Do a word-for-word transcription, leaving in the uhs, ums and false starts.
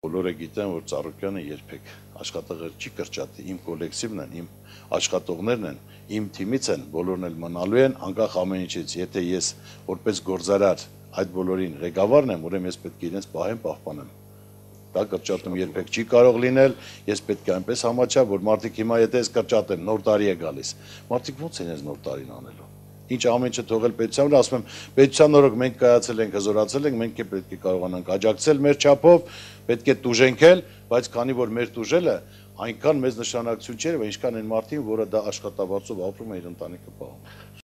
Բոլորը գիտեն, որ Ծառուկյանը երբեք աշխատողներ չի կրճատի, իմ կոլեկտիվն են, իմ աշխատողներն են, իմ թիմից են, բոլորն էլ մնալու են, անկախ ամեն ինչից, եթե ես որպես գործարար այդ բոլորին ղեկավարն եմ, ուրեմն ես պետք է իրենց պահեմ, պահպանեմ։ Դա կրճատում երբեք չի կարող լինել, ես պետք է այնպես համաչամ, որ մարդիկ հիմա եթե ես կրճատեմ, նոր տարի է գալիս, մարդիկ ո՞նց են այս նոր տարին անելու։ Ինչ ամեն ինչը թողել պետության վրա, ասում եմ, պետության օրոք մենք կայացել ենք, հզորացել ենք, մենք պետք է կարողանանք աջակցել մեր չափով, պետք է տուժենքել, բայց քանի որ մեր տուժելը այնքան մեծ նշանակություն չէ, ինչքան այն մարդին, որը դա աշխատավարձով ապրում է իր ընտանիքը պահում։